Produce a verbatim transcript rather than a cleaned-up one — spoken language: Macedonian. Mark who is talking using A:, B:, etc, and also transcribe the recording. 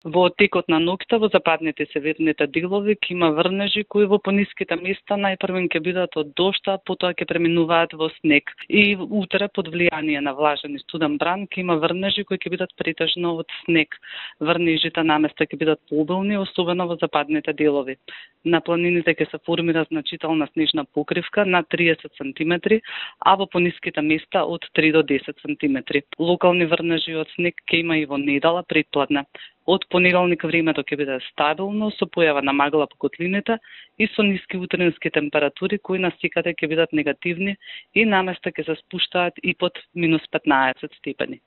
A: Во текот на ноќта во западните северните делови ќе има врнежи кои во пониските места најпрвен ќе бидат од дожд, потоа ќе преминуваат во снег. И утре под влијание на влажен и студен бран ќе има врнежи кои ќе бидат претежно од снег. Врнежите наместа ќе бидат пообилни, особено во западните делови. На планините ќе се формира значителна снежна покривка на триесет сантиметри, а во пониските места од три до десет сантиметри. Локални врнежи од снег ќе има и во недела предпладне. Од понеделник времето ќе биде стабилно, со појава на магла по котлините и со ниски утренски температури кои насекаде ќе бидат негативни и наместа ќе се спуштаат и под минус петнаесет степени.